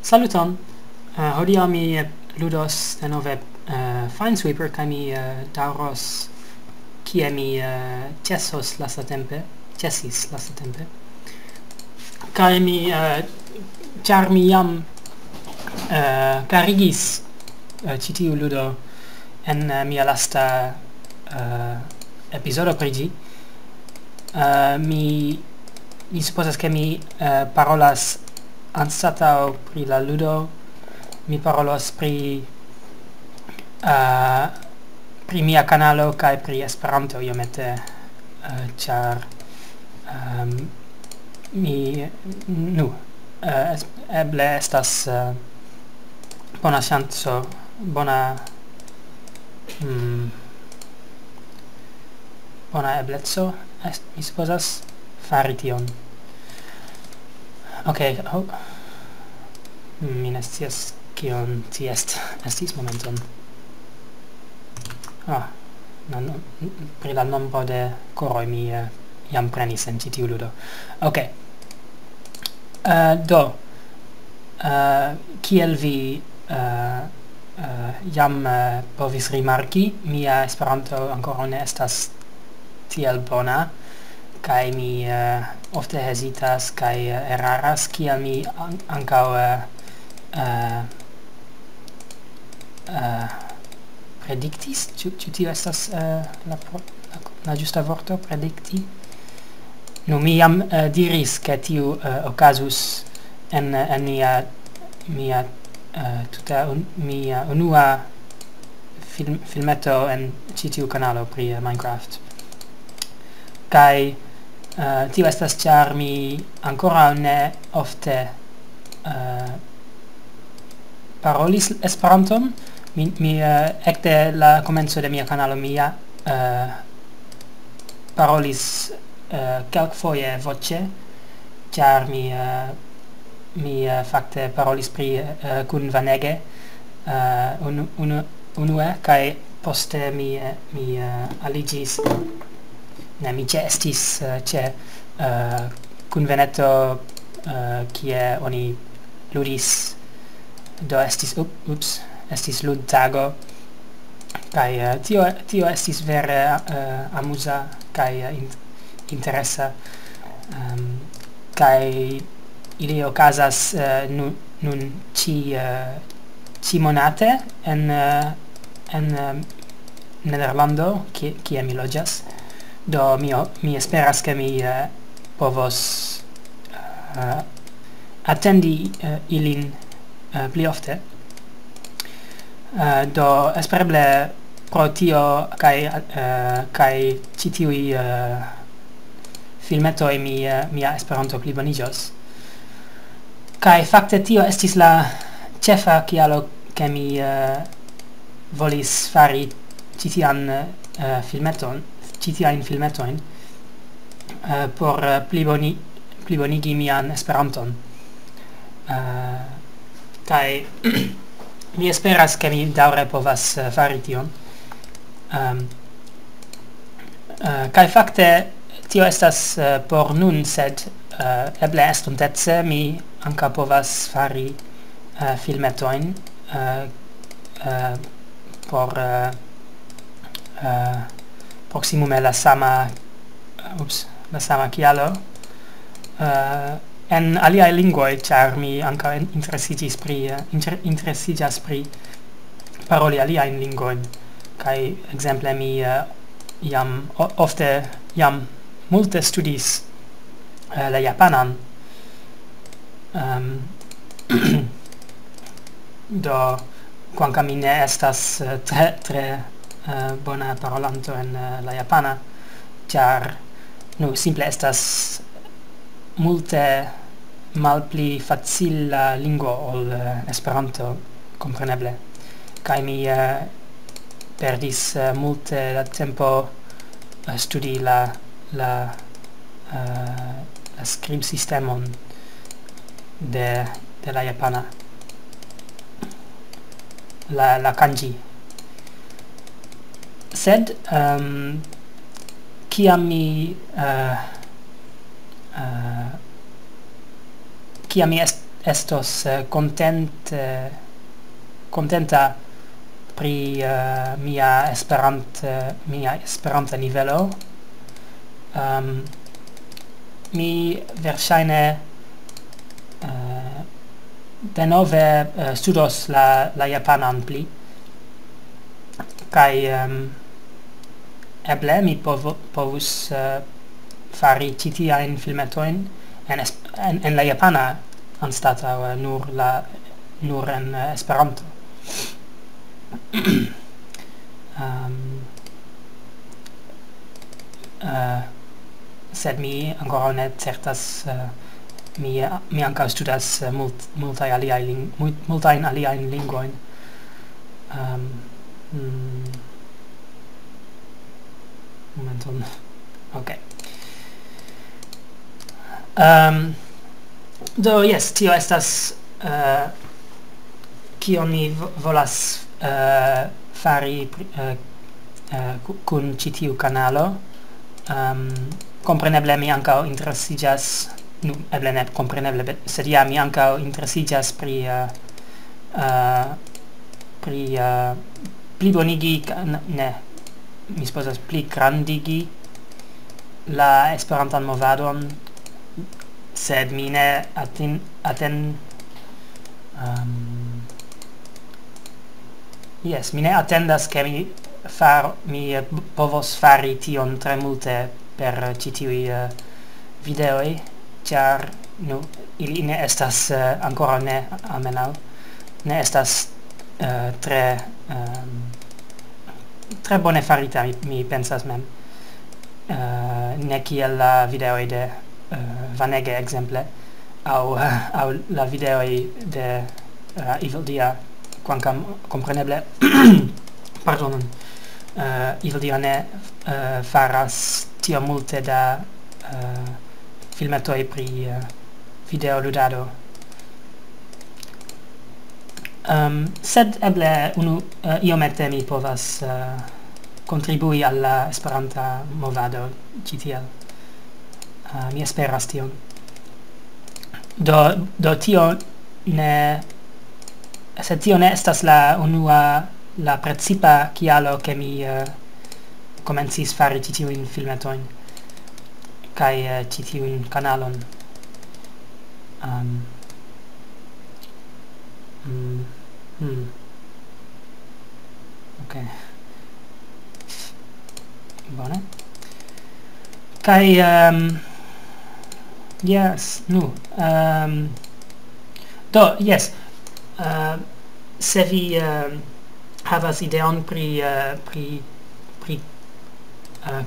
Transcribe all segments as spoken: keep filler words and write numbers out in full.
Saluton! Uh, hodiaŭ mi ludos denove uh, Finesweeper, kaj mi uh, daŭros kie mi uh, ĉesos lastatempe, ĉesis lastatempe. Kaj mi, uh, ĉar mi jam uh, karigis uh, ĉi tiu ludo en uh, mia lasta uh, epizodo pri ĝi, uh, mi, mi supozas, ke mi uh, parolas anstataŭ pri la ludo, mi parolos pri uh, pri mia kanalo kaj pri Esperanto iomete, uh, ĉar um, mi, nu, uh, es, eble estas uh, bona ŝanco, bona mm, bona ebleco, mi supozas, fari tion. Ok, oh. Mi ne scias kion ci est, estis momenton. Ah, non, pri la nombro de koroj mi uh, jam prenis en ĉi tiu ludo. Ok. Uh, do, uh, kiel vi uh, uh, jam uh, povis rimarki, mia Esperanto ankoraŭ ne estas tiel bona, kaj mi uh, ofte hezitas kaj uh, eraras, kiel mi an ankaŭ uh, uh, uh, prediktis, ĉu, ĉu tio estas uh, la, la, la ĝusta vorto, predikti? Nu, mi jam uh, diris, ke tiu uh, okazus en, en mia, mia uh, tuta un, mia unua film, filmeto en ĉi tiu kanalo pri uh, Minecraft. Kaj uh, tio estas, ĉar mi ankoraŭ ne ofte uh, parolis Esperanton. Mi, mi uh, ekde la komenco de mia kanalo mi ja uh, parolis uh, kelkfoje voĉe, ĉar mi uh, mi uh, fakte parolis pri uh, kun Vanege uh, unu, unu, unue, kaj poste mi, uh, mi uh, aliĝis, ne, mi ĉeestis uh, ĉe uh, kunveneto uh, kie oni ludis, do estis, up, ups, estis ludtago, kaj uh, tio, tio estis vere uh, amuza kaj uh, in, interesa, um, kaj ili okazas uh, nun, nun ĉi, uh, ĉi monate en, uh, en uh, Nederlando, kie, kie mi loĝas. Do mi, mi esperas, ke mi uh, povos uh, atendi uh, ilin uh, pli ofte. Uh, do espereble pro tio kaj uh, kaj ĉi tiuj uh, filmetoj mi, uh, mia Esperanto pliboniĝos. Kaj fakte tio estis la ĉefa kialo, ke mi uh, volis fari ĉi tian uh, filmeton, ĉi tiajn filmetojn uh, por uh, pliboni, plibonigi mian Esperanton. Uh, kaj mi esperas, ke mi daŭre povas uh, fari tion. Um, uh, kaj fakte tio estas uh, por nun, sed uh, eble estontece mi ankaŭ povas fari uh, filmetojn uh, uh, por uh, uh, proksimume la sama, ups, la sama kialo uh, en aliaj lingvoj, ĉar mi ankaŭ interesiĝis pri uh, inter, interesiĝas pri paroli aliajn lingvojn, kaj ekzemple mi uh, jam ofte jam multe studis uh, la japanan. Um, do kvankam mi ne estas uh, tre, tre uh, bona parolanto en uh, la japana, ĉar nu simple estas multe malpli facila lingvo ol uh, Esperanto, kompreneble. Kaj mi uh, perdis uh, multe da tempo uh, studi la la uh, la skribsistemon de, de la japana, la, la kanji. Sed um, kiam mi uh, uh, kiam mi est estos, eh, kontent-, eh, kontenta pri, eh, mia Esperant-, eh, mia Esperanta nivelo. Ehm, mi verŝajne, eh, denove, eh, studos la, la japanan pli. Kaj, ehm, eble mi povo-, povus, eh, fari ĉi tiajn filmetojn en es-, en, en la japana anstataŭ, eh, nur la, nur en, eh, Esperanto. Ehm, eh, sed mi ankoraŭ ne certas, eh, mi, mi ankaŭ studas, eh, mult-, multaj aliaj ling-, mul-, multajn aliajn lingvojn. Ehm, mm, momenton. Ok. Ehm, do, jes, tio estas, eh, kion mi vo-, volas, eh, fari pri-, eh, eh, ku-, kun ĉi tiu kanalo. Ehm, kompreneble mi ankaŭ interesiĝas, nu, eble ne kompreneble, be-, sed ja, mi ankaŭ interesiĝas pri, eh, eh, pri, eh, plibonigi, ka-, n-, ne, mi supozas pli grandigi la Esperantan movadon, sed mi ne atin-, aten-, ehm, jes, mi ne atendas, ke mi far-, mi, eh, povos fari tion tre multe per, eh, ĉi tiuj, eh, videoj, ĉar, nu, ili ne estas, eh, ankoraŭ ne, almenaŭ, ne estas, eh, tre, ehm, tre bone farita, mi, mi pensas mem. Eh, ne kiel la videoj de, eh, Vanege, ekzemple, aŭ, aŭ la videoj de, eh, Evil Dia, kvankam kompreneble, pardonon, eh, Evil Dia ne, eh, faras tiom multe da, eh, filmetoj pri, eh, videoludado. Ehm, sed eble unu, eh, iomete mi povas, eh, kontribui al la Esperanta movado ĉi tiel. Eh, mi esperas tion. Do, do tio ne, sed tio ne estas la unua, la precipa kialo, ke mi, eh, komencis fari ĉi tiujn filmetojn kaj, eh, ĉi tiujn kanalon. Ehm, mm, hmm. Ok. Bone. Kaj, ehm, yes, nu, ehm, do, yes, eh, se vi, ehm, havas ideon pri, eh, pri, pri, eh,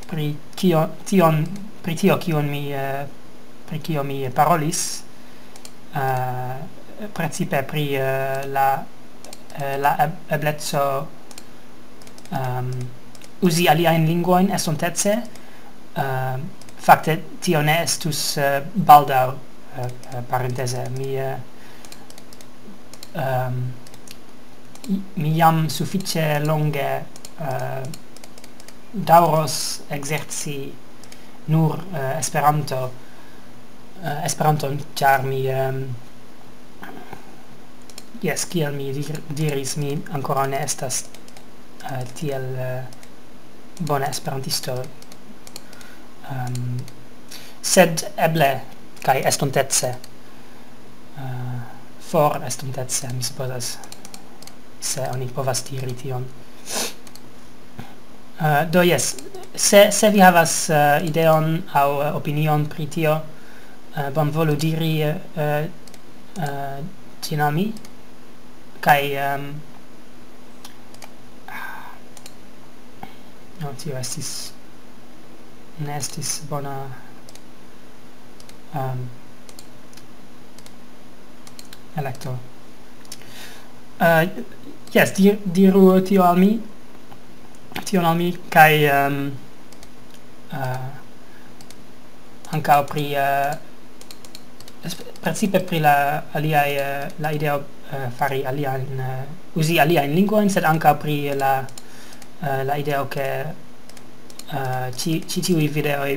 pri kio, tion, pri tio, kion mi, eh, pri kio mi parolis, eh, precipe pri, eh, la, eh, la eb-, ebleco, ehm, uzi aliajn lingvojn estontece. Ehm, fakte, tio ne estus, eh, baldaŭ, eh, eh, parenteze. Mi, eh, ehm, mi jam sufiĉe longe, eh, daŭros ekzerci nur, eh, Esperanto, eh, Esperanton, ĉar mi, ehm, jes, kiel mi dir-, diris, mi ankoraŭ ne estas, eh, tiel, eh, bona esperantisto. Ehm, sed eble kaj estontece, eh, for estontece, mi supozas, se oni povas diri tion. Eh, do, jes, se, se vi havas, eh, ideon aŭ, eh, opinion pri tio, eh, bonvolu diri, eh, eh, ĝin al mi. Kaj, ehm, no, tio estis, ne estis bona, ehm, elekto. Eh, jes, di-, diru tio al mi, tion al mi, kaj, ehm, eh, ankaŭ pri, eh, esp-, precipe pri la aliaj, eh, la ideo, eh, fari aliajn, eh, uzi aliajn lingvojn, sed ankaŭ pri la, eh, la ideo, ke, eh, ĉi, ĉi tiuj videoj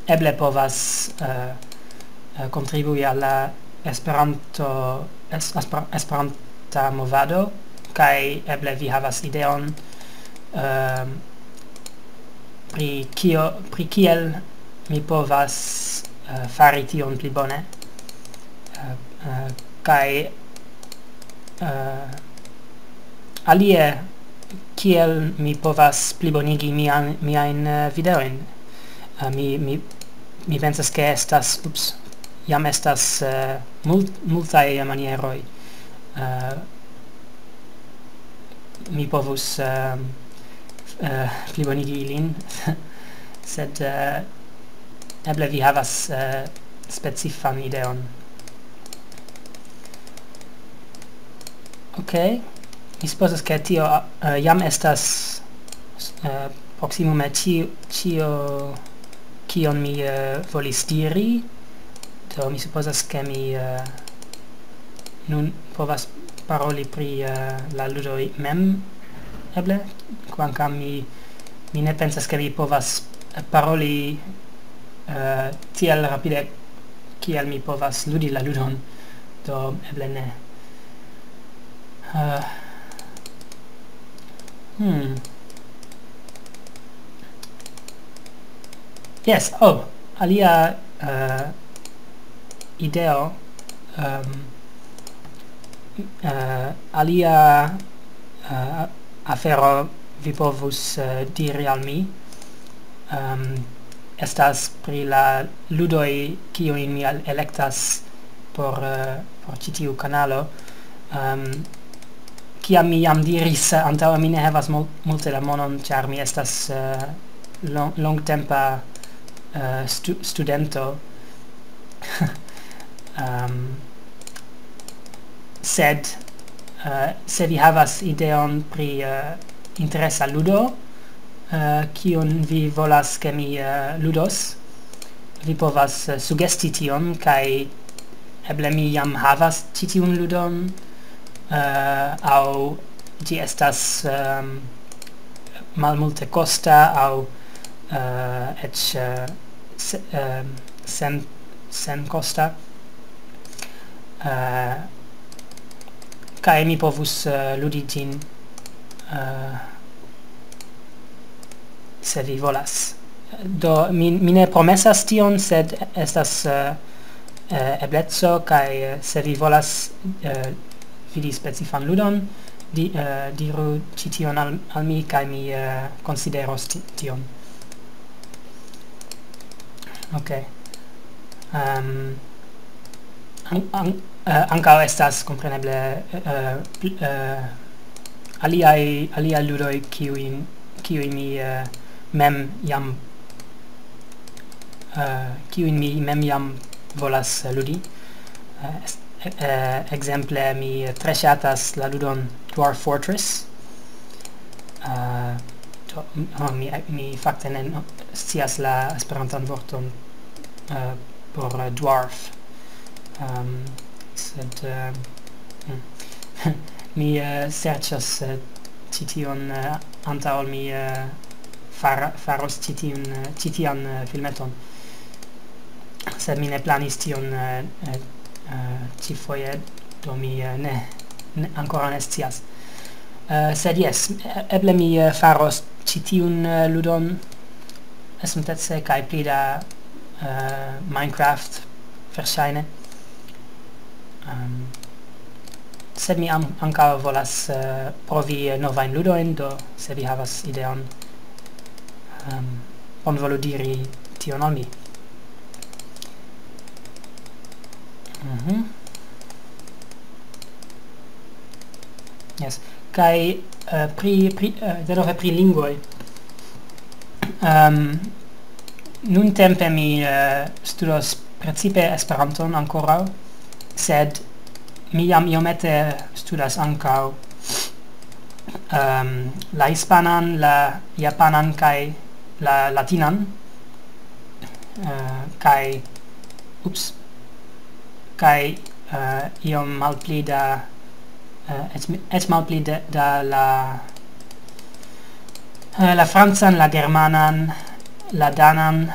eble povas, eh, eh, kontribui al la Esperanto, es, espera, esperanta movado, kaj eble vi havas ideon, ehm, pri kio, pri kiel mi povas, eh, fari tion pli bone. Eh, eh, kaj, eh, alie, kiel mi povas plibonigi mian, miajn, eh, videojn. Eh, mi, mi, mi pensas, ke estas, ups, jam estas, eh, mult-, multaj manieroj. Eh, mi povus, eh, eh, plibonigi ilin, sed, eh, eble vi havas, eh, specifan ideon. Ok, mi supozas, ke tio, eh, jam estas, eh, proksimume ĉi-, ĉio, kion mi, eh, volis diri. Do, mi supozas, ke mi, eh, nun povas paroli pri, eh, la ludoj mem, eble, kvankam mi, mi ne pensas, ke mi povas paroli, eh, tiel rapide, kiel mi povas ludi la ludon. Do, eble ne. Eh, hmm. Yes, oh, alia, eh, ideo, ehm, eh, alia, eh, afero vi povus, eh, diri al mi, ehm, estas pri la ludoj, kiujn mi al-, elektas por, eh, por ĉi tiu kanalo. Ehm, kiam mi jam diris, eh, antaŭe, mi ne havas mul-, multe da monon, ĉar mi estas, eh, lon-, longtempa, eh, stu-, studento. Ehm, sed, eh, se vi havas ideon pri, eh, interesa ludo, eh, kiun vi volas, ke mi, eh, ludos, vi povas, eh, sugesti tion, kaj eble mi jam havas ĉi tiun ludon, eh, aŭ ĝi estas, ehm, malmulte kosta, aŭ, eh, eĉ, eh, se-, ehm, sen-, senkosta. Eh, kaj mi povus, eh, ludi ĝin, eh, se vi volas. Do, mi, mi ne promesas tion, sed estas, eh, eh, ebleco, kaj, eh, se vi volas, eh, vidi specifan ludon, di-, eh, diru ĉi tion al, al mi, kaj mi, eh, konsideros ti-, tion. Ok. Ehm, an-, an-, eh, ankaŭ estas, kompreneble, eh, pl-, eh, aliaj, aliaj ludoj, kiujn, kiujn mi, eh, mem jam, eh, kiujn mi mem jam volas, eh, ludi. Eh, es-, eh, ekzemple, mi tre ŝatas la ludon Dwarf Fortress. Eh, do, oh, mi, mi fakte ne, no, scias la Esperantan vorton, eh, por, eh, dwarf. Ehm, sed, eh, hmm. Mi, eh, serĉas, eh, ĉi tion, eh, antaŭ ol mi, eh, fara-, faros ĉi tiun, eh, ĉi tian, eh, filmeton. Sed mi ne planis tion, eh, eh, eh, ĉifoje, do mi, eh, ne, ne, ankoraŭ ne scias. Eh, sed jes, e-, eble mi, eh, faros ĉi tiun, eh, ludon estontece, kaj pli da, eh, Minecraft, verŝajne. Ehm, sed mi an-, ankaŭ volas, eh, provi, eh, novajn ludojn, do se vi havas ideon, ehm, bonvolu diri tion al mi. Mhm. Yes. Kaj, eh, pri, pri, eh, denove pri lingvoj. Ehm, nuntempe mi, eh, studos precipe Esperanton ankoraŭ, sed mi jam iomete studas ankaŭ, ehm, la hispanan, la japanan kaj la latinan, eh, kaj, ups, kaj, eh, iom malpli da, eh, eĉ, eĉ malpli da, da la, eh, la francan, la germanan, la danan,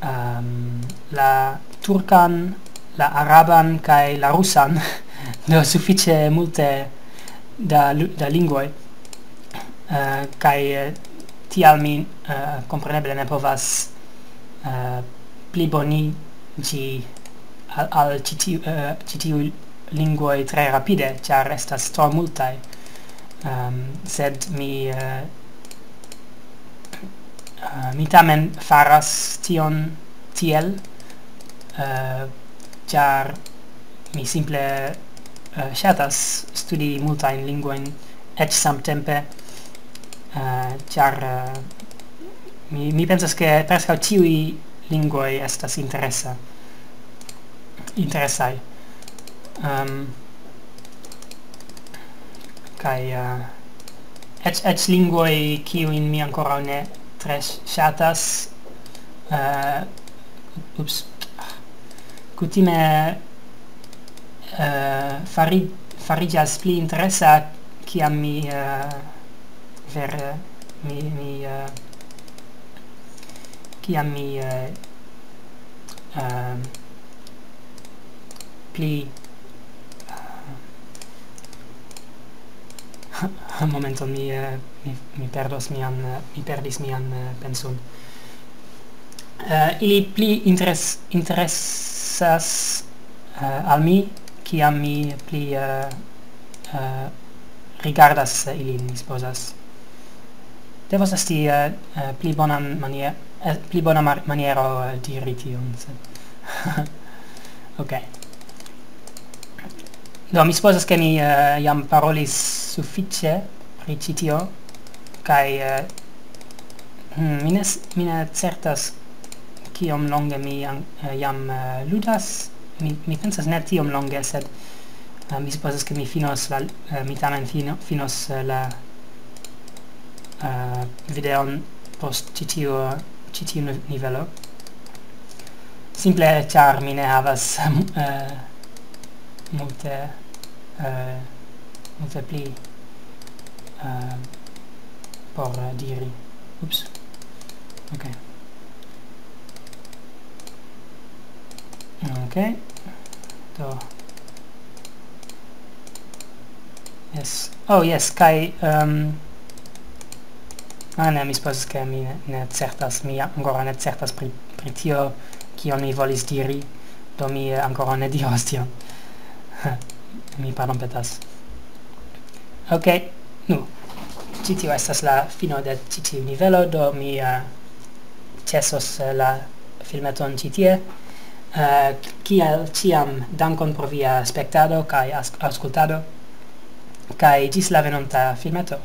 ehm, la turkan, la araban kaj la rusan, do sufiĉe multe da, lu- da lingvoj, eh, kaj eh, tial mi eh, kompreneble ne povas eh, pliboniĝi al, al ĉi tiu, eh, ĉi tiuj lingvoj tre rapide, ĉar estas tro multaj. Ehm, sed mi, eh, eh, mi tamen faras tion tiel, eh, ĉar mi simple eh, ŝatas studi multajn lingvojn, eĉ samtempe, eh, ĉar eh, mi, mi pensas, ke preskaŭ ĉiuj lingvoj estas interesa, interesaj. Um, kaj eh, eĉ, eĉ lingvoj, kiujn mi ankoraŭ ne tre ŝatas, eh, ups, kutime eh, fari, fariĝas pli interesa, kiam mi eh, vere mi, mi eh, kiam mi eh, eh, pli eh, momenton, mi, eh, mi, mi perdos mian, eh, mi perdis mian eh, penson. Eh, ili pli interes, interesas eh, al mi, kiam mi pli eh, eh, rigardas ilin, mi supozas. Devas esti eh, eh, pli bonan manier, eh, pli bona mar- maniero eh, diri tion. Sed ok. Do, mi supozas, ke mi eh, jam parolis sufiĉe pri ĉi tio, kaj eh, hmm, mi, ne, s- mi ne certas kiom longe mi an- eh, jam eh, ludas. Mi, mi pensas ne tiom longe, sed eh, mi supozas, ke mi finos la, eh, mi tamen fino, finos eh, la eh, videon post ĉi tiu, ĉi tiu ni- nivelo. Simple ĉar mi ne havas eh, multe, eh, multe pli eh, por eh, diri. Ups. Ok. Ok. Do. Yes. Oh, yes, kaj um, ah, ne, mi supozas, ke mi ne, ne certas, mi ankoraŭ ne certas pri, pri tio, kion mi volis diri, do mi eh, ankoraŭ ne diros tion. Mi pardonpetas. Ok, nu, ĉi tio estas la fino de ĉi tiu nivelo, do mi eh, ĉesos eh, la filmeton ĉi tie. Eh, kiel ĉiam, dankon pro via spektado kaj as- aŭskultado, kaj ĝis la venonta filmeto.